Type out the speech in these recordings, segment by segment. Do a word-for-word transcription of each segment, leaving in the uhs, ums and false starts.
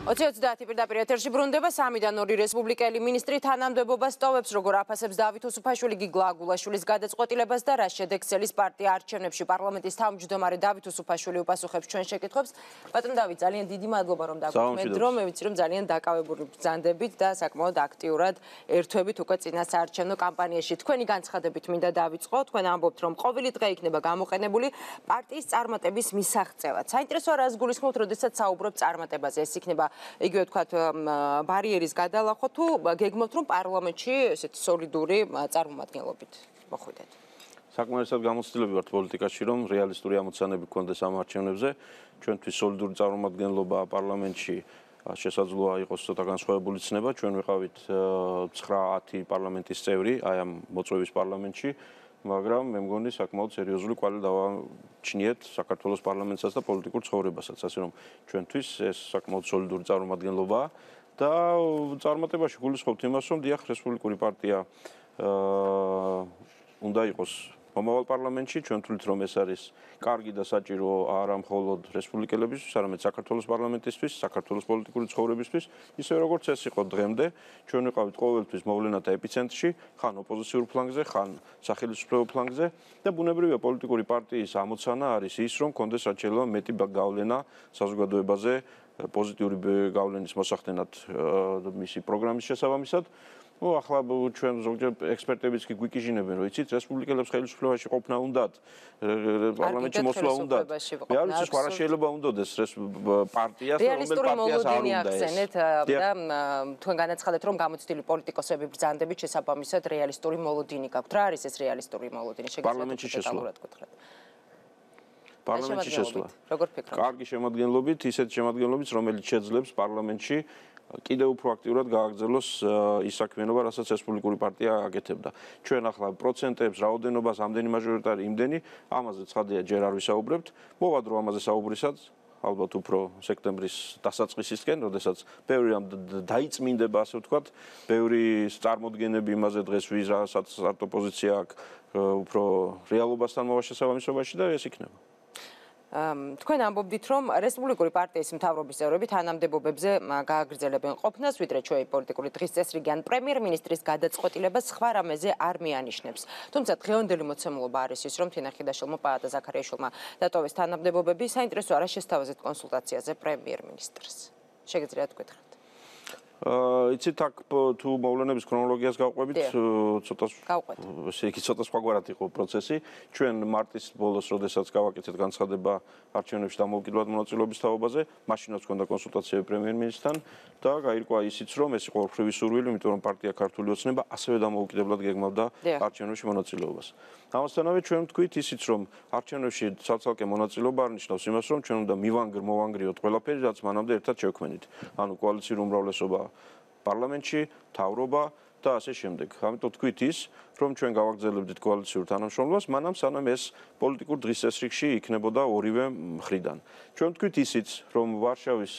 ოცი ოცდაათი პირდაპირ ეთერში ბრუნდება სამიდან ორი რესპუბლიკელი მინისტრი თანამდებობას ტოვებს, როგორ აფასებს დავით უსუფაშვილი, გიგლა აგულაშვილის გადაწყვეტილებას და რა შედეგს ელის პარტია არჩევნებში. პარლამენტის თავმჯდომარე დავით უსუფაშვილი უპასუხებს ჩვენ შეკითხვებს. ბატონ დავით, ძალიან დიდი მადლობა რომ დაგვიქმნით დრო, მე ვიცი რომ ძალიან დაკავებული ბრძანდებით და საკმაოდ აქტიურად ერთვებით უკვე წინა საარჩევნო კამპანიაში. თქვენი განცხადებით მინდა დავიწყო, თქვენ ამბობთ რომ ყოველი დღე იქნება გამოყენებული პარტიის წარმატების მისაღწევად. საინტერესოა რას გულისხმობთ, როდესაც საუბრობთ წარმატებაზე, ეს იქნება იგივე თქვათ ბარიერის გადალახვა თუ გეგმობთ რომ პარლამენტში ესეთი სოლიდური წარმომადგენლობით მოხვიდეთ. საკმარისად გამოცდილები ვართ პოლიტიკაში რომ რეალისტური ამოცანები გქონდეს ამ არჩევნებზე. ჩვენთვის სოლიდური წარმომადგენლობა პარლამენტში შესაძლოა იყოს ცოტა განსხვავებული ცნება. ჩვენ ვიყავით ცხრა ათი პარლამენტის წევრი აი ამ მოწვევის პარლამენტში. მაგრამ მე მგონი საკმაოდ სერიოზული კვალი დავაჩნიეთ საქართველოს პარლამენტსაც და პოლიტიკურ ცხოვრებასაც, ასე რომ ჩვენთვის ეს საკმაოდ სოლიდური წარმომადგენლობაა და წარმატებაში გულისხმობთ იმას, რომ დიახ, რესპუბლიკური პარტია უნდა იყოს მომავალ პარლამენტში, ჩვენ ვთვლით რომ ეს არის კარგი და საჭირო არა მხოლოდ რესპუბლიკელებისთვის, არამედ საქართველოს პარლამენტისთვის, საქართველოს პოლიტიკური ცხოვრებისთვის, ისე როგორც ეს იყო დღემდე, ჩვენ ვიყავით ყოველთვის მოვლენათა ეპიცენტრში, ხან ოპოზიციურ ფლანგზე, ხან სახელმწიფო ფლანგზე და ბუნებრივია პოლიტიკური პარტიის ამოცანა არის ის, რომ კონდეს რაც შეიძლება მეტი გავლენა საზოგადოებაზე, პოზიტიური გავლენის მოსახდენად მისი პროგრამის შესაბამისად. Ну, ახლა ჩვენ ზოგჯერ ექსპერტებიც კი გვიკიჟინებენ, რომ იცით, რესპუბლიკელებს ხელისუფლებაში ყოფნა უნდათ, პარლამენტში მოსვლა უნდათ. მე არ ვიცი, სხვა რა შეიძლება უნდოდეს პარტიას, რომელ პარტიას არ უნდა ეს. და თქვენ განაცხადეთ, რომ გამოცდილი პოლიტიკოსები ბრძანდებით შესაბამისად რეალისტური მოლოდინი გაქვთ. რა არის ეს რეალისტური მოლოდინი? პარლამენტში შესვლა. პარლამენტში შესვლა. როგორ ფიქრობთ? კარგი შემადგენლობით, ისეთ შემადგენლობით, რომელიც შეძლებს პარლამენტში კიდევ უფრო აქტიურად გააგრძელოს ის საქმიანობა, რასაც რესპუბლიკური პარტია აკეთებდა. ჩვენ ახლა პროცენტებს, რაოდენობას, ამდენი მაჟორიტარი, იმდენი, ამაზე ცხადია ჯერ არ ვისაუბრებთ. მოვადრო ამაზე საუბრისაც, ალბათ უფრო სექტემბრის დასაწყისისკენ, როდესაც ბევრი რამ დაიწმინდება, ასე ვთქვათ, ბევრი წარმოდგენები იმაზე დღეს ვის რასაც არტ ოპოზიცია აქვს უფრო რეალობასთან მოვაშესაბამისობაში და ეს იქნება. თქვენ ამბობდით, რომ რესპუბლიკური პარტიის მთავრობის წევრები თანამდებობებზე გააგრძელებენ ყოფნას, ვიდრე ჩვენი პოლიტიკური დღის წესრიგი ან პრემიერ-მინისტრის გადაწყვეტილებას სხვა რამეზე არ მიანიშნებს. თუმცა დღევანდელი მოცემულობა არის ის, რომ თინა ხიდაშვილმა, პაატა ზაქარიაშვილმა დატოვეს თანამდებობები. საინტერესოა რა შესთავაზეთ კონსულტაციაზე პრემიერ-მინისტრს. შეგიძლიათ გითხრათ? იცით, აქ თუ მოვლენების ქრონოლოგიას გავყვებით, ცოტა ესე იგი ცოტა სხვაგვარად იყო პროცესი. ჩვენ მარტის ბოლოს, როდესაც გავაკეთეთ განცხადება არჩევნებში დამოუკიდებლად მონაწილეობის თაობაზე, მაშინაც ჰქონდა კონსულტაციები პრემიერ-მინისტრთან და გაირკვა ისიც, რომ ეს იყო ორი სურვილი, იმიტომ რომ პარტია ქართული ოცნება ასევე დამოუკიდებლად გეგმავდა არჩევნებში მონაწილეობას. ამასთანავე ჩვენ ვთქვით ისიც, რომ არჩევნებში ცალ-ცალკე მონაწილეობა არ ნიშნავს იმას, რომ ჩვენ უნდა მივანგრ-მოვანგრიოთ ყველაფერი, რაც მანამდე ერთად შევქმნით. ანუ კოალიციური უმრავლესობა პარლამენტში, მთავრობა და ასე შემდეგ. ამიტომ თქვით ის, რომ ჩვენ გავაგრძელებდით კოალიციურ თანამშრომლობას, მანამ სანამ ეს პოლიტიკურ დღის წესრიგში იქნებოდა ორივე მხრიდან. ჩვენ თქვით ისიც, რომ ვარშავის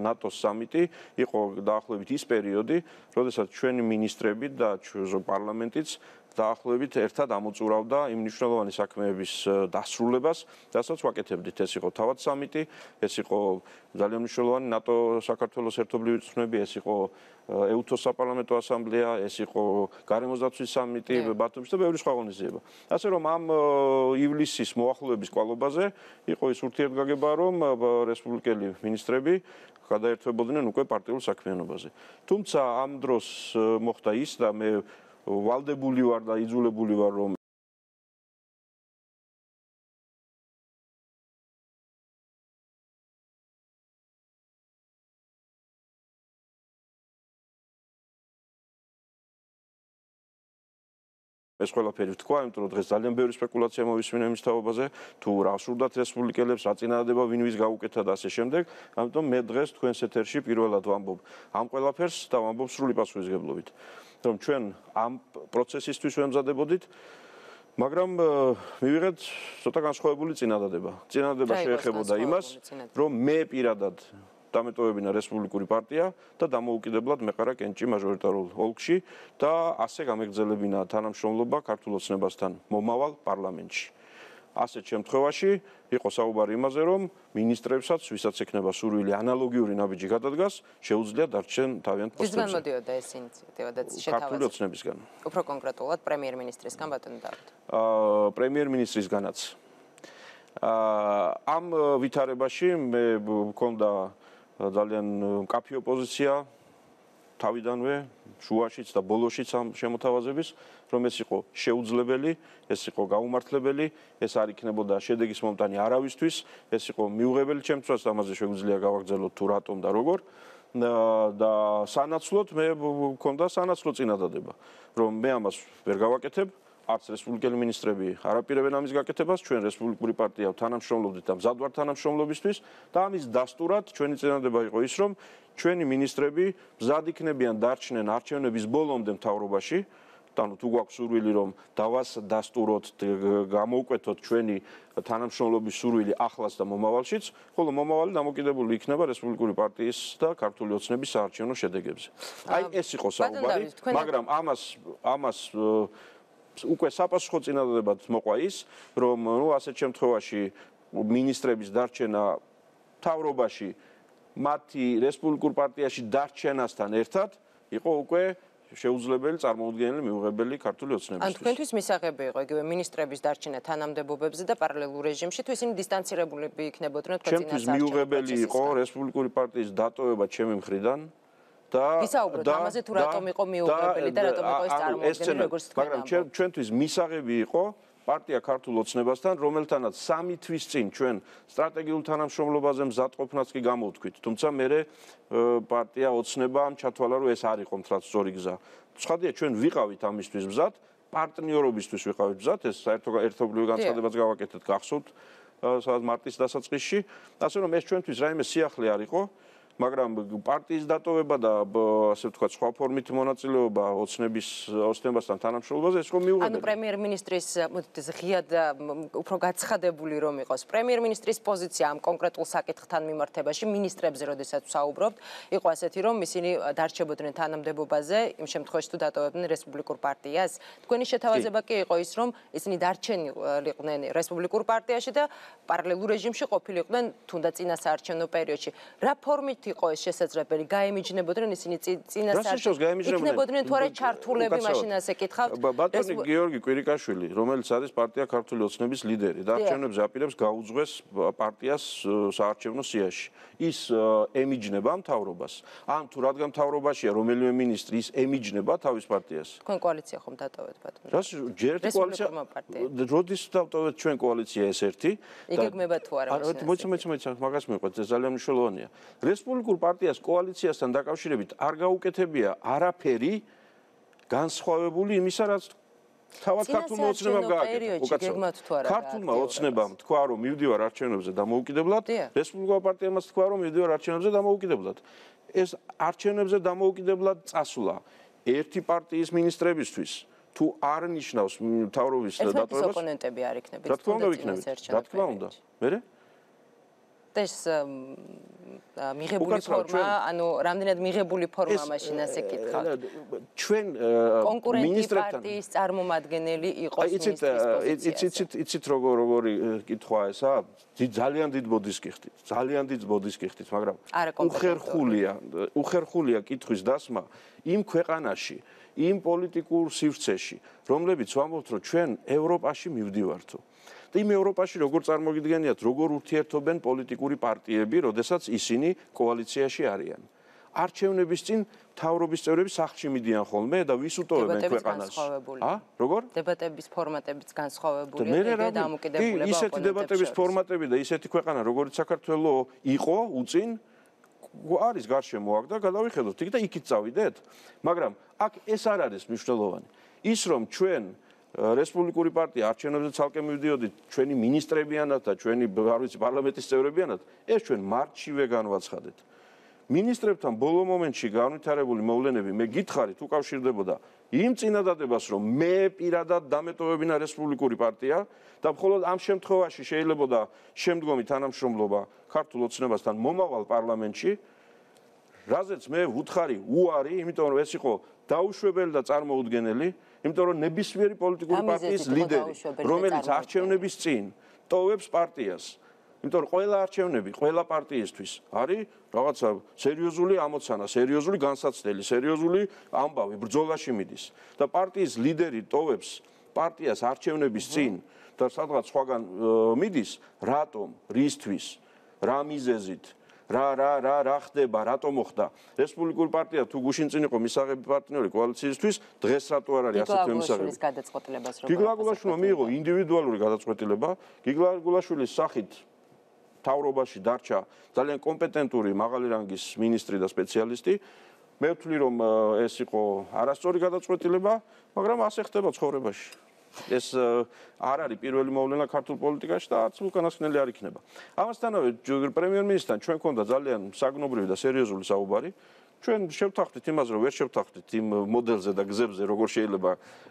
ნატოს სამიტი იყო დაახლოებით ის პერიოდი, როდესაც ჩვენი მინისტრები და პარლამენტიც დაახლოებით ერთად ამოწურავდა იმ მნიშვნელოვანი საქმეების დასრულებას, რასაც ვაკეთებდით. ეს იყო თავად სამიტი, ეს იყო ძალიან მნიშვნელოვანი ნატო საქართველოს ერთობლივი წვნები, ეს იყო ეუთოს საპარლამენტო ასამბლეა, ეს იყო გარემოსდაცვის სამიტი ბათუმში და ბევრი სხვა ღონისძიება. ასე რომ ამ ივლისის მოახლოების კვალობაზე იყო ის ურთიერთგაგება, რომ რესპუბლიკელი მინისტრები გადაერთვებოდნენ უკვე პარტიულ საქმიანობაზე. თუმცა ამ დროს მოხდა ის და მე ვალდებული ვარ და იძულებული ვარ რომ ეს ყველაფერი ვთქვა, იმიტომ რომ დღეს ძალიან ბევრი სპეკულაცია მოვისმინა იმის თაობაზე, თუ რა სურდათ რესპუბლიკელებს, რა წინადადება ვინ ვის გაუკეთა და ასე შემდეგ. ამიტომ მე დღეს თქვენს ეთერში პირველად ვამბობ ამ ყველაფერს და ვამბობ სრული პასუხისგებლობით. რომ ჩვენ ამ პროცესისთვის ვემზადებოდით, მაგრამ მივიღეთ ცოტა განსხვავებული წინადადება. წინადადება შეეხებოდა იმას, რომ მე პირადად დამეტოვებინა რესპუბლიკური პარტია და დამოუკიდებლად მეყარა კენჭი მაჟორიტარულ ოლქში და ასე გამეგრძელებინა თანამშრომლობა ქართულ ოცნებასთან მომავალ პარლამენტში. ასეთ შემთხვევაში იყო საუბარი იმაზე, რომ მინისტრებსაც, ვისაც ექნება სურვილი ანალოგიური ნაბიჯი გადადგას, შეუძლია დარჩენ თავიანთ პოსტებზე. ვისგან მოდიოდა ეს ინიციატივა და შეთავაზება? ქართული ოცნებისგან. უფრო კონკრეტულად პრემიერ-მინისტრისგან ბატონო დავით. აა პრემიერ-მინისტრისგანაც. აა ამ ვითარებაში მე მქონდა ძალიან მკაფიო პოზიცია თავიდანვე, შუაშიც და ბოლოშიც ამ შემოთავაზების, რომ ეს იყო შეუძლებელი, ეს იყო გაუმართლებელი, ეს არ იქნებოდა შედეგის მომტანი არავისთვის, ეს იყო მიუღებელი ჩემთვისაც, ამაზე შეგვიძლია გავაგრძელოთ თუ რატომ და როგორ. და სანაცვლოდ მე მქონდა სანაცვლო წინადადება, რომ მე ამას ვერ გავაკეთებ. არც რესპუბლიკელი მინისტრები არ აპირებენ ამის გაკეთებას, ჩვენ რესპუბლიკური პარტია თანამშრომლობდით და მზად ვართ თანამშრომლობისთვის და ამის დასტურად ჩვენი წინადადება იყო ის, რომ ჩვენი მინისტრები მზად იქნებიან დარჩნენ არჩევნების ბოლომდე მთავრობაში, ანუ თუ გვაქვს სურვილი, რომ დავასდასტუროთ, გამოვკვეთოთ ჩვენი თანამშრომლობის სურვილი ახლაც და მომავალშიც, ხოლო მომავალი დამოკიდებული იქნება რესპუბლიკური პარტიის და ქართული ოცნების საარჩევნო შედეგებზე. აი ეს იყო საუბარი, მაგრამ ამას ამას უკვე საპასუხო წინადადებად მოყვა ის, რომ ნუ ასეთ შემთხვევაში მინისტრების დარჩენა მთავრობაში მათი რესპუბლიკურ პარტიაში დარჩენასთან ერთად იყო უკვე შეუძლებელი წარმოუდგენელი მიუღებელი ქართული ოცნებისთვის. ან თქვენთვის მისაღები იყო იგივე მინისტრების დარჩენა თანამდებობებზე და პარალელურ რეჟიმში, თუ ისინი დისტანცირებულები იქნებოდნენ თქვენ წინასაარჩევნო პროცესისგან? ჩემთვის მიუღებელი იყო რესპუბლიკური პარტიის დატოვება ჩემი მხრიდან. და ვისაუბროთ ამაზე თუ რატომ იყო მიუღებელი და რატომ იყო ეს წარმოუდგენელი როგორც თქვენ ამბობთ. მაგრამ ჩვენთვის მისაღები იყო პარტია ქართულ ოცნებასთან, რომელთანაც სამი თვის წინ ჩვენ სტრატეგიულ თანამშრომლობაზე მზადყოფნაც კი გამოვთქვით. თუმცა მე პარტია ოცნებამ ჩათვალა, რომ ეს არ იყო მართლაც სწორი გზა. ცხადია, ჩვენ ვიყავით ამისთვის მზად, პარტნიორობისთვის ვიყავით მზად, ეს საერთო ერთობლივი განცხადებაც გავაკეთეთ გახსოვთ, სადაც მარტის დასაწყისში, ასე რომ ეს ჩვენთვის რაიმე სიახლე არ იყო. მაგრამ პარტიის დატოვება და ასე ვთქვათ, სხვა ფორმით მონაწილეობა ოცნების ოცნებასთან თანამშრომლობაზე ეს რომ მიუღებელი. ანუ პრემიერ-მინისტრის ღია და უფრო გაცხადებული რომ იყოს პრემიერ-მინისტრის პოზიცია ამ კონკრეტულ საკითხთან მიმართებაში მინისტრებზე როდესაც ვსაუბრობთ, იყო ასეთი რომ ისინი დარჩებოდნენ თანამდებობაზე იმ შემთხვევაში თუ დატოვებდნენ რესპუბლიკურ პარტიას. თქვენი შეთავაზება კი იყო ის რომ ისინი დარჩენილიყვნენ რესპუბლიკურ პარტიაში და პარალელურ რეჟიმში ყოფილიყვნენ თუნდაც წინასაარჩევნო პერიოდში. რა ფორმით იყო ეს შესაძლებელი? გაემიჯნებოდნენ ისინი წინასაარჩევნო იქნებოდნენ თუ არა ჩართულები მაშინ ასე კითხავთ? ბატონი გიორგი კვირიკაშვილი, რომელიც არის პარტია ქართული ოცნების ლიდერი და არჩევნებზე აპირებს გაუძღვეს პარტიას საარჩევნო სიაში. ის ემიჯნება მთავრობას. ან თუ რადგან მთავრობაშია რომელიმე მინისტრი ის ემიჯნება თავის პარტიას. თქვენ კოალიცია ხომ დატოვეთ ბატონო? რას ჯერ ერთი კოალიცია? როდის დავტოვეთ ჩვენ კოალიცია ეს ერთი? იგეგმება თუ არა? მოიცა მოიცა მოიცა მაგას მეყვეთ, ეს ძალიან მნიშვნელოვანია. რესპუბლიკურ პარტიას კოალიციასთან დაკავშირებით არ გაუკეთებია არაფერი განსხვავებული იმისა, რაც თავად ქართულმა ოცნებამ გააკეთა. ქართულმა ოცნებამ თქვა, რომ მივდივარ არჩევნებზე დამოუკიდებლად, რესპუბლიკურ პარტიამაც თქვა, რომ მივდივარ არჩევნებზე დამოუკიდებლად. ეს არჩევნებზე დამოუკიდებლად წასვლა ერთი პარტიის მინისტრებისთვის თუ არ ნიშნავს მთავრობის დატოვებას? ეს ოპონენტები არ იქნებით. რა თქმა უნდა იქნებით. რა თქმა უნდა. მერე? ეს მიღებული ფორმა, ანუ რამდენად მიღებული ფორმა მაშინ ასე კითხავთ. ჩვენ მინისტრებთან პარტიის წარმომადგენელი იყოს მინისტრის პოზიციაზე. იცით, იცით როგორ როგორი კითხვა ესა? ძალიან დიდ ბოდის კიხდით, ძალიან დიდ ბოდის კიხდით, მაგრამ უხერხულია, უხერხულია კითხვის დასმა იმ ქვეყანაში, იმ პოლიტიკურ სივრცეში, რომლებიც ვამბობთ, რომ ჩვენ ევროპაში მივდივართო. და იმ ევროპაში როგორ წარმოგიდგენიათ, როგორ ურთიერთობენ პოლიტიკური პარტიები, როდესაც ისინი კოალიციაში არიან. არჩევნების წინ მთავრობის წევრები სახლში მიდიან ხოლმე და ვის უტოვებენ ქვეყანას? ა? როგორ? დებატების ფორმატებიც განსხვავებულია და დამოკიდებულება ოპონენტებს. ისეთი დებატების ფორმატები და ისეთი ქვეყანა, როგორც საქართველო იყო უწინ არის გარშემო აქ და გადავიხედოთ იქ და იქით წავიდეთ. მაგრამ აქ ეს არ არის მნიშვნელოვანი. ის რომ ჩვენ რესპუბლიკური პარტია არჩევნებზე ცალკე მივდიოდით ჩვენი მინისტრებიანად და ჩვენი არ ვიცი პარლამენტის წევრებიანად, ეს ჩვენ მარტშივე განვაცხადეთ. მინისტრებთან ბოლო მომენტში განვითარებული მოვლენები მე გითხარით უკავშირდებოდა იმ წინადადებას, რომ მე პირადად დამეტოვებინა რესპუბლიკური პარტია და მხოლოდ ამ შემთხვევაში შეიძლებოდა შემდგომი თანამშრომლობა ქართულ ოცნებასთან მომავალ პარლამენტში, რაზეც მე ვუთხარი უარი, იმიტომ რომ ეს იყო დაუშვებელი და წარმოუდგენელი. იმიტომ რომ ნებისმიერი პოლიტიკური პარტიის ლიდერი, რომელიც არჩევნების წინ ტოვებს პარტიას, იმიტომ რომ ყველა არჩევნები, ყველა პარტიისთვის არის რაღაცა სერიოზული ამოცანა, სერიოზული განსაცდელი, სერიოზული ამბავი, ბრძოლაში მიდის და პარტიის ლიდერი ტოვებს პარტიას არჩევნების წინ და სადღაც სხვაგან მიდის, რატომ, რისთვის, რა მიზეზით, რა რა რა რა ხდება, რატომ მოხდა? რესპუბლიკური პარტია თუ გუშინ წინ იყო მისაღები პარტნიორი კოალიციისთვის, დღეს რატო არ არის ასეთი მისაღები? გიგლა გულაშვილმა მიიღო ინდივიდუალური გადაწყვეტილება, გიგლა გულაშვილის სახით თავრობაში დარჩა ძალიან კომპეტენტური მაღალი რანგის მინისტრი და სპეციალისტი. მე ვთვლი რომ ეს იყო არასწორი გადაწყვეტილება, მაგრამ ასე ხდება ცხოვრებაში. ეს არ არის პირველი მოვლენა ქართულ პოლიტიკაში და არც უკანასკნელი არ იქნება. ამასთანავე პრემიერ-მინისტრთან ჩვენ გვქონდა ძალიან საგნობრივი და სერიოზული საუბარი. ჩვენ შევთანხმდით იმას, რომ ვერ შევთანხმდით იმ მოდელზე და გზებზე, როგორ შეიძლება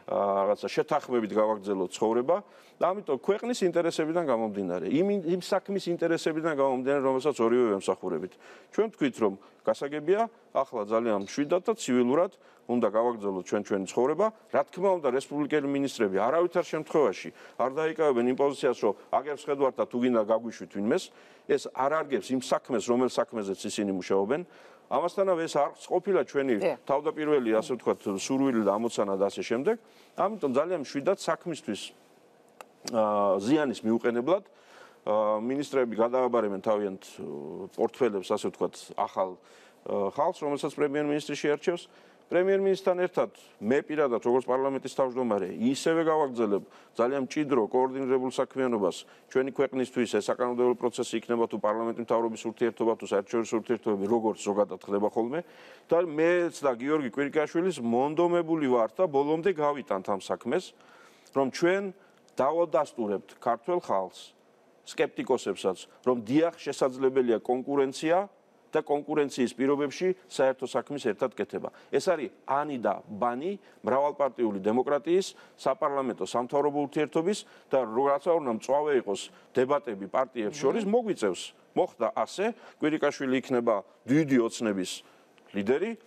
რაღაცა შეთანხმებით გავაგრძელოთ ცხოვრება და ამიტომ ქვეყნის ინტერესებიდან გამომდინარე, იმ იმ საქმის ინტერესებიდან გამომდინარე, რომელსაც ორივე ემსახურებით. ჩვენ ვთქვით, რომ გასაგებია, ახლა ძალიან მშვიდად და ცივილურად უნდა გავაგრძელოთ ჩვენ ჩვენი ცხოვრება. რა თქმა უნდა, რესპუბლიკელი მინისტრები არავითარ შემთხვევაში არ დაიკავებენ იმ პოზიციას, რომ აგერს ხედავთ და თუ გინდა გაგვიშვით ვინმეს, ეს არ არგებს იმ საქმეს, რომელ საქმეზეც ისინი მუშაობენ. ამასთანავე ეს არ ყოფილა ჩვენი თავდაპირველი, ასე ვთქვათ, სურვილი და ამოცანა და ასე შემდეგ. ამიტომ ძალიან მშვიდად საქმისთვის ზიანის მიუყენებლად მინისტრები გადააბარებენ თავიანთ პორტფელებს, ასე ვთქვათ, ახალ ხალხს, რომელსაც პრემიერ-მინისტრი შეარჩევს. პრემიერ-მინისტრთან ერთად მე პირადად როგორც პარლამენტის თავმჯდომარე ისევე გავაგრძელებ ძალიან მჭიდრო კოორდინირებულ საქმიანობას ჩვენი ქვეყნისთვის. ეს საკანონმდებლო პროცესი იქნება თუ პარლამენტის მთავრობის ურთიერთობა თუ საერთაშორისო ურთიერთობები, როგორც ზოგადად ხდება ხოლმე და მეც და გიორგი კვირიკაშვილის მონდომებული ვართ და ბოლომდე გავიტანთ ამ საქმეს, რომ ჩვენ დავადასტურებთ ქართველ ხალხს, სკეპტიკოსებსაც, რომ დიახ შესაძლებელია კონკურენცია და კონკურენციის პირობებში საერთო საქმის ერთად კეთება. ეს არის ანი და ბანი მრავალპარტიული დემოკრატიის, საპარლამენტო სამთავრობო ურთიერთობის და რაც უნდა მწვავე იყოს დებატები პარტიებს შორის მოგვიწევს. მოხდა ასე, კვირიკაშვილი იქნება დიდი ოცნების ლიდერი,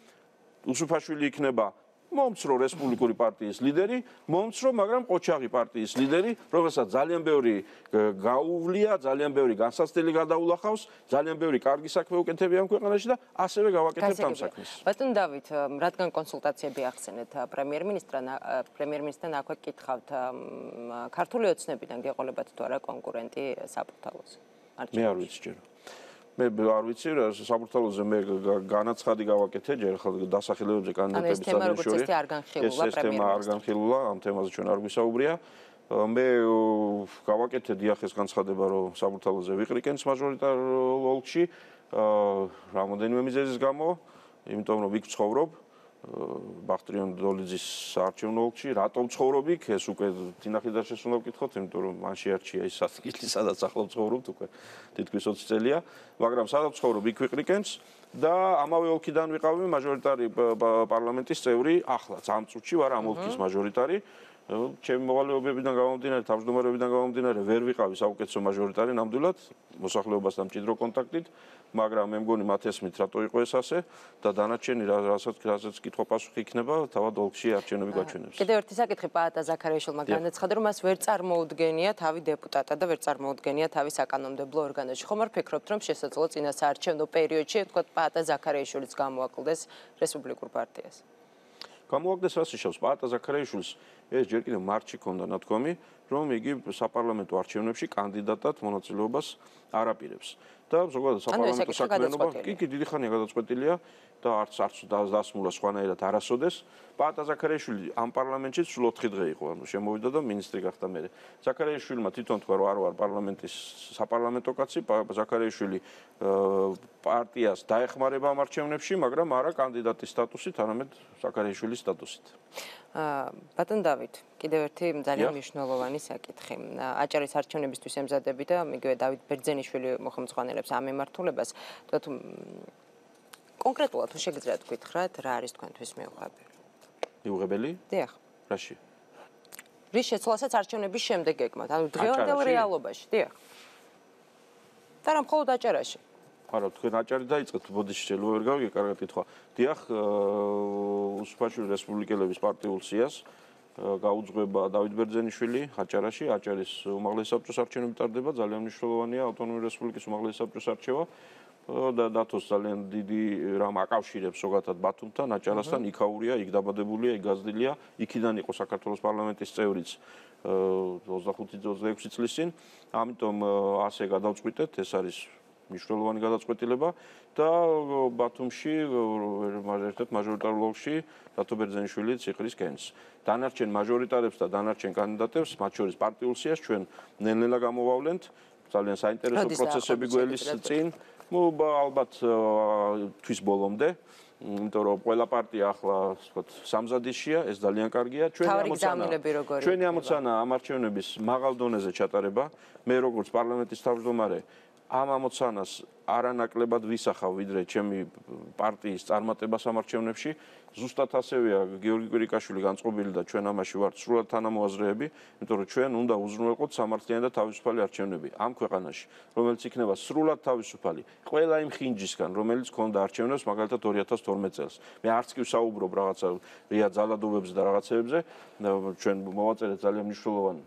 უსუფაშვილი იქნება მომცრო რესპუბლიკური პარტიის ლიდერი, მომცრო, მაგრამ ყოჩაღი პარტიის ლიდერი, რომელსაც ძალიან ბევრი გაუვლია, ძალიან ბევრი განსაცდელი გადაულახავს, ძალიან ბევრი კარგი საქმე უკეთებია ამ ქვეყანაში და ასევე გავაკეთებთ ამ საქმეს. ბატონ დავით, რადგან კონსულტაციები ახსენეთ პრემიერ-მინისტრთან, პრემიერ-მინისტრთან აქვე გკითხავთ, ქართული ოცნებიდან გეყოლებათ თუ არა კონკურენტი საპორტალოზე? მე არ ვიცი ჯერ. მე არ ვიცი, საპორტალოზე მე განაცხადი გავაკეთე, ჯერ ხალ დასახელებებზე კანდიდატების შორის. ეს თემა არ განხილულა, ამ თემაზე ჩვენ არ გვისაუბრია. მე გავაკეთე დიახ ეს განცხადება, რომ საპორტალოზე ვიყრიკენს მაჟორიტარ ოლქში, რამოდენიმე მიზეზის გამო, იმიტომ რომ იქ ვცხოვრობ. ბახტრიონ დოლიძის საარჩევნო ოლქში, რატომ ცხოვრობ იქ? ეს უკვე თინახიდაშეს უნდა ვკითხოთ, იმიტომ რომ მან შეარჩია ის ადგილი, სადაც ახლა ვცხოვრობთ უკვე თითქმის ოცი წელია, მაგრამ სადაც ვცხოვრობ იქ ვიყრიკენს და ამავე ოლქიდან ვიყავი მაჟორიტარი პარლამენტის წევრი, ახლაც ამ წუთში ვარ ამ ოლქის მაჟორიტარი. ჩემი მოვალეობებიდან გამომდინარე, თავმჯდომარეობიდან გამომდინარე, ვერ ვიყავი საუკეთესო მაჟორიტარი ნამდვილად, მოსახლეობასთან მჭიდრო კონტაქტით, მაგრამ მე მგონი მათ ესმით, რატო იყო ეს ასე და დანარჩენი რასაც რასაც კითხვა პასუხი იქნება, თავად ოლქში არჩევნები გაჩვენებს. კიდევ ერთი საკითხი პაატა ზაქარიაშვილმა განაცხადა, რომ მას ვერ წარმოუდგენია თავი დეპუტატად და ვერ წარმოუდგენია თავი საკანონმდებლო ორგანოში. ხომ არ ფიქრობთ, რომ შესაძლოა წინა საარჩევნო პერიოდში, თქვა პაატა ზაქარიაშვილიც გამოაკლდეს რესპუბლიკურ პარტიას? გამოაგდეს რას იშავს პაატა ზაქარიაშვილს ეს ჯერ კიდევ მარტში ქონდა ნათქვამი, რომ იგი საპარლამენტო არჩევნებში კანდიდატად მონაწილეობას არ აპირებს. და ზოგადად საპარლამენტო საქმიანობა კი კი დიდი ხანია გადაწყვეტილია და არც არც დასმულა სხვანაირად არასოდეს. პაატა ზაქარიაშვილი ამ პარლამენტში სულ ოთხი დღე იყო, ანუ შემოვიდა და მინისტრი გახდა მერე. ზაქარიაშვილმა თვითონ თქვა, რომ არ ვარ პარლამენტის საპარლამენტო კაცი, ზაქარიაშვილი პარტიას დაეხმარება ამ არჩევნებში, მაგრამ არა კანდიდატის სტატუსით, არამედ ზაქარიაშვილის სტატუსით. ბატონ დავით, კიდევ ერთი ძალიან მნიშვნელოვანი საკითხი. აჭარის არჩევნებისთვის ემზადები და იგივე დავით ბერძენიშვილი მოხმოწყვანელებს ამ მიმართულებას. თქვათ კონკრეტულად თუ შეგიძლიათ გითხრათ, რა არის თქვენთვის მიუღებელი? მიუღებელი? დიახ. რაში? რის შეცვლასაც არჩევნების შემდეგ ეკმათ, ანუ დღევანდელ რეალობაში, დიახ. და რა მხოლოდ აჭარაში? არა, თქვენ აჭარი დაიწყეთ, ბოდიში შეიძლება ვერ გავიგე, კარგად კითხვა. დიახ, უსუფაშვილი რესპუბლიკელების პარტიულ სიას გაუძღვება დავით ბერძენიშვილი აჭარაში, აჭარის უმაღლესი საბჭოს არჩევნები ტარდება, ძალიან მნიშვნელოვანია ავტონომიური რესპუბლიკის უმაღლესი საბჭოს არჩევა და დათოს ძალიან დიდი რამ აკავშირებს ზოგადად ბათუმთან, აჭარასთან, იქაურია, იქ დაბადებულია, იქ გაზრდილია, იქიდან იყო საქართველოს პარლამენტის წევრიც ოცდახუთი ოცდაექვსი წლის წინ, ამიტომ ასე გადავწყვიტეთ, ეს არის მნიშვნელოვანი გადაწყვეტილება და ბათუმში ერთ-ერთ მაჟორიტარულ ოლქში დათო ბერძენიშვილი ციხრის კენს. დანარჩენ მაჟორიტარებს და დანარჩენ კანდიდატებს, მათ შორის პარტიულ სიას ჩვენ ნელ-ნელა გამოვავლენთ, ძალიან საინტერესო პროცესები გველის წინ. ну ალბათ თვის ბოლომდე, იმიტომ რომ ყველა პარტია ახლა ვთქვათ სამზადისშია, ეს ძალიან კარგია. ჩვენი ამოცანა ჩვენი ამოცანა ამ არჩევნების მაღალ დონეზე ჩატარება. მე როგორც პარლამენტის თავმჯდომარე ამ ამოცანას არანაკლებად ვისახავ ვიდრე ჩემი პარტიის წარმატება სამარჩევნებში. ზუსტად ასევეა გიორგი კვირიკაშვილი განწყობილი და ჩვენ ამაში ვართ სრულად თანამოაზრეები, იმიტომ რომ ჩვენ უნდა უზრუნველყოთ სამართლიანი და თავისუფალი არჩევნები ამ ქვეყანაში, რომელიც იქნება სრულად თავისუფალი ყველა იმ ხინჯისგან, რომელიც ქონდა არჩევნებს მაგალითად ორი ათას თორმეტ წელს. მე არც კი ვსაუბრობ რაღაცა რია ძალადობებზე და რაღაცეებზე, ჩვენ მოვაწერეთ ძალიან მნიშვნელოვანი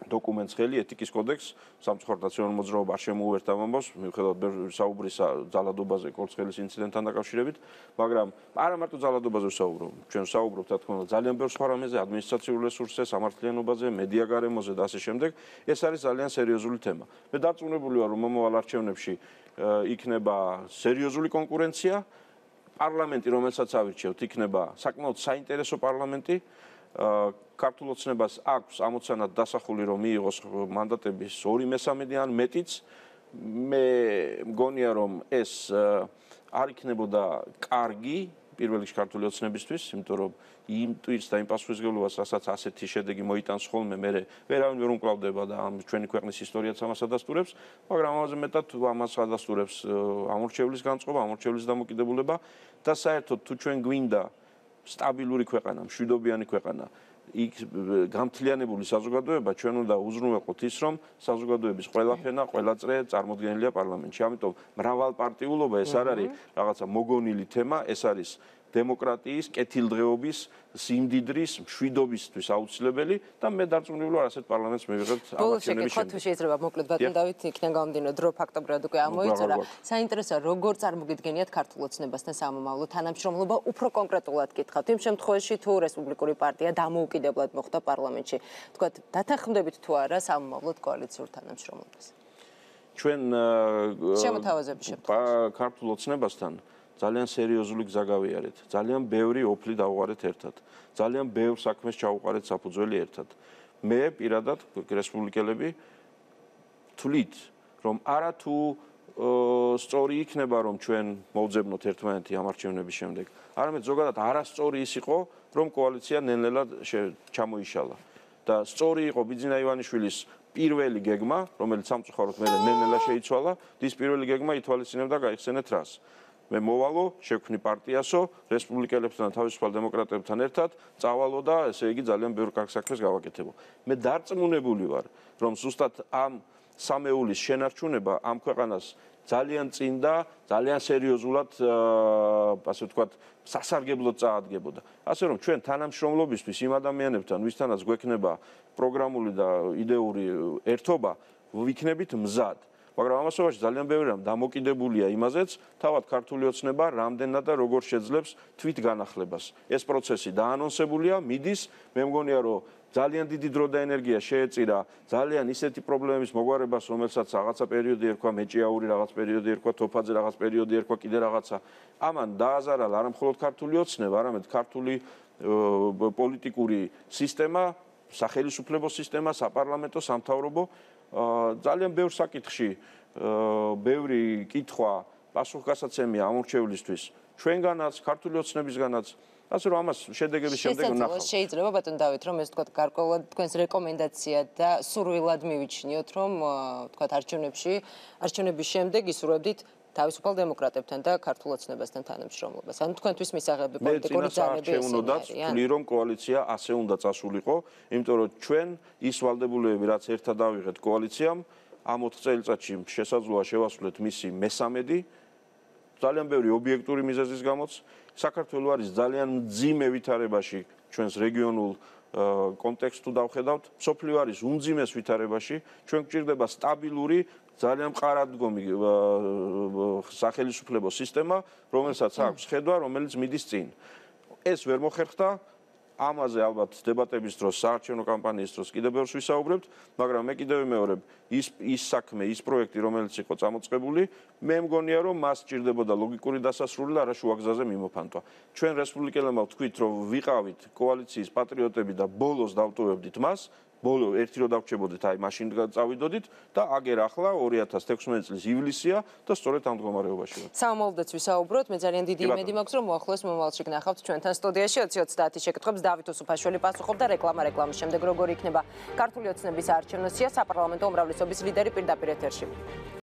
დოკუმენტს ხელი ეთიკის კოდექს სამწუხაროდ ნაციონალურ მოძრაობა არ შემოუერთდა ამ ამბავს მიუხედავად საუბრისა ძალადობაზე კორცხელის ინციდენტთან დაკავშირებით მაგრამ არა მარტო ძალადობაზე ვსაუბრობ ჩვენ ვსაუბრობთ რა თქმა უნდა ძალიან ბევრ სხვა რამეზე ადმინისტრაციულ რესურსზე სამართლიანობაზე მედია გარემოზე და ასე შემდეგ ეს არის ძალიან სერიოზული თემა მე დარწმუნებული ვარ რომ მომავალ არჩევნებში იქნება სერიოზული კონკურენცია პარლამენტი რომელსაც ავირჩევთ იქნება საკმაოდ საინტერესო პარლამენტი ქართულ ოცნებას აქვს ამოცანად დასახული რომ მიიღოს მანდატების ორი მესამედი ან მეტიც მე მგონია რომ ეს არ იქნებოდა კარგი პირველ რიგში ქართული ოცნებისთვის იმიტომ რომ იმ ტვირს და იმ პასუხისმგებლობას რასაც ასეთი შედეგი მოიტანს ხოლმე მე ვერავინ ვერ უმკლავდება და ამ ჩვენი ქვეყნის ისტორიაც ამას ადასტურებს მაგრამ ამაზე მეტად ამას ადასტურებს ამორჩევლის განწყობა ამორჩევლის დამოკიდებულება და საერთოდ თუ ჩვენ გვინდა სტაბილური ქვეყანა, მშვიდობიანი ქვეყანა, იქ გამთლიანებული საზოგადოება ჩვენ უნდა უზრუნველყოთ ის, რომ საზოგადოების ყველა ფენა, ყველა წრე წარმოდგენილია პარლამენტში. ამიტომ მრავალპარტიულობა ეს არ არის რაღაცა მოგონილი თემა, ეს არის დემოკრატიის, კეთილდღეობის, სიმდიდრის, მშვიდობისთვის აუცილებელი და მე დარწმუნებული ვარ ასეთ პარლამენტს მივიღებთ ამერჩევნების შემდეგ. ბოლოს შეიძლება მოკლედ ბატონ დავით იქიდან გამომდინარე დრო ფაქტობრივად უკვე ამოიწურა. საინტერესოა როგორ წარმოგიდგენიათ ქართულ ოცნებასთან სამომავლო თანამშრომლობა უფრო კონკრეტულად გითხავთ. იმ შემთხვევაში თუ რესპუბლიკური პარტია დამოუკიდებლად მოხვდა პარლამენტში, თქვათ დათანხმდებით თუ არა სამომავლოდ კოალიციურ თანამშრომლობას. ჩვენ შემოთავაზების შემთხვევაში ქართულ ოცნებასთან ძალიან სერიოზული გზა გავიარეთ. ძალიან ბევრი ოფლი დავუყარეთ ერთად. ძალიან ბევრ საქმეს ჩავუყარეთ საფუძველი ერთად. მე პირადად რესპუბლიკელები თვლით, რომ არა თუ სწორი იქნება, რომ ჩვენ მოვძებნოთ ერთმანეთი ამ არჩევნების შემდეგ. არამედ ზოგადად არასწორი ის იყო, რომ კოალიცია ნელ-ნელა ჩამოიშალა. და სწორი იყო ბიძინა ივანიშვილის პირველი გეგმა, რომელიც სამწუხაროდ მე ნელ-ნელა შეიცვალა, ის პირველი გეგმა ითვალისწინებდა გაიხსენეთ რას. მე მოვალო, შევქმნი პარტიასო, რესპუბლიკელებთან და თავისუფალ დემოკრატებთან ერთად, წავალო და ესე იგი ძალიან ბევრ კარგ საქმეს გავაკეთებო. მე დარწმუნებული ვარ, რომ ზუსტად ამ სამეულის შენარჩუნება ამ ქვეყანას ძალიან წინ და ძალიან სერიოზულად, ასე ვთქვათ, სასარგებლოდ წაადგებოდა. ასე რომ ჩვენ თანამშრომლობისთვის იმ ადამიანებთან, ვისთანაც გვექნება პროგრამული და იდეური ერთობა, ვიქნებით მზად. მაგრამ ამასობაში ძალიან ბევრი რამ დამოკიდებულია იმაზეც, თავად ქართული ოცნება რამდენად და როგორ შეძლებს თვით განახლებას. ეს პროცესი დაანონსებულია, მიდის, მე მგონია რომ ძალიან დიდი დრო და ენერგია შეეწირა ძალიან ისეთი პრობლემების მოგვარებას, რომელსაც რაღაცა პერიოდი ერქვა მეჭიაური, რაღაც პერიოდი ერქვა თოფაძე, რაღაც პერიოდი ერქვა კიდე რაღაცა. ამან დააზარალა არა მხოლოდ ქართული ოცნება, არამედ ქართული პოლიტიკური სისტემა, სახელმწიფო სისტემა, საპარლამენტო, სამთავრობო ძალიან ბევრ საკითხში ბევრი კითხვა პასუხგასაცემია ამორჩევლისთვის ჩვენგანაც ქართული ოცნებისგანაც ასე რომ ამას შედეგების შემდეგ ვნახავთ. შეიძლება ბატონ დავით რომ ეს თქვათ გარკვეულად თქვენს რეკომენდაცია და სურვილად მივიჩნიოთ რომ თქვათ არჩევნებში არჩევნების შემდეგ ისურვებდით თავისუფალ დემოკრატებთან და ქართულ ოცნებასთან თანამშრომლობას. ანუ თქვენთვის მისაღები პოლიტიკური ძალები ესენია. ვთვლი რომ კოალიცია ასე უნდა წასულიყო, იმიტომ რომ ჩვენ ის ვალდებულებები რაც ერთად ავიღეთ კოალიციამ, ამ ოთხ წელიწადში შესაძლოა შევასრულეთ მისი მესამედი ძალიან ბევრი ობიექტური მიზეზის გამოც საქართველოს არის ძალიან მძიმე ვითარებაში ჩვენს რეგიონულ კონტექსტს თუ დავხედავთ, მსოფლიო არის უმძიმეს ვითარებაში, ჩვენ გვჭირდება სტაბილური ძალიან მყარადგომი სახელმწიფო სისტემა, რომელსაც აქვს ხედვა, რომელიც მიდის წინ. ეს ვერ მოხერხდა, ამაზე ალბათ დებატების დროს, საარჩევნო კამპანიის დროს კიდევ ბევრს ვისაუბრებთ, მაგრამ მე კიდევ ვიმეორებ, ის ის საქმე, ის პროექტი, რომელიც იყო წამოწყებული, მე მგონია, რომ მას სჭირდებოდა ლოგიკური დასასრული და არა შუაგზაზე მიმოფანტვა. ჩვენ რესპუბლიკელებმა ვთქვით, რომ ვიყავით კოალიციის პატრიოტები და ბოლოს დავტოვებდით მას. ბოლო ერთი რო დავრჩებოდით, აი მაშინ წავიდოდით და აგერ ახლა ორი ათას თექვსმეტი წლის ივლისია და სწორედ ამ მდგომარეობაში ვართ. სამომავლოდაც ვისაუბროთ, მე ძალიან დიდი იმედი მაქვს, რომ მოახლოეს მომავალში გნახავთ ჩვენთან სტუდიაში ოცი ოცდაათი შეკითხვებს დავით უსუფაშვილი პასუხობდა რეკლამა რეკლამის შემდეგ როგორი იქნება ქართული ოცნების საარჩევნო სია საპარლამენტო უმრავლესობის ლიდერი პირდაპირ ეთერში.